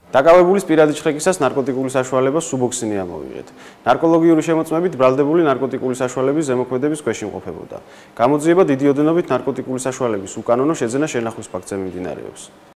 დაკავებულის პირადი ჩხრეკისას ნარკოტიკული საშუალება სუბოქსინი ამოვიღეთ. ნარკოლოგიური შემოწმებით ბრალდებული ნარკოტიკული საშუალების ზემოქმედების ქვეშ იმყოფებოდა. გამოძიება დიდი ოდენობით ნარკოტიკული საშუალების უკანონო შეძენა შენახვის ფაქტზე მიმდინარეობს.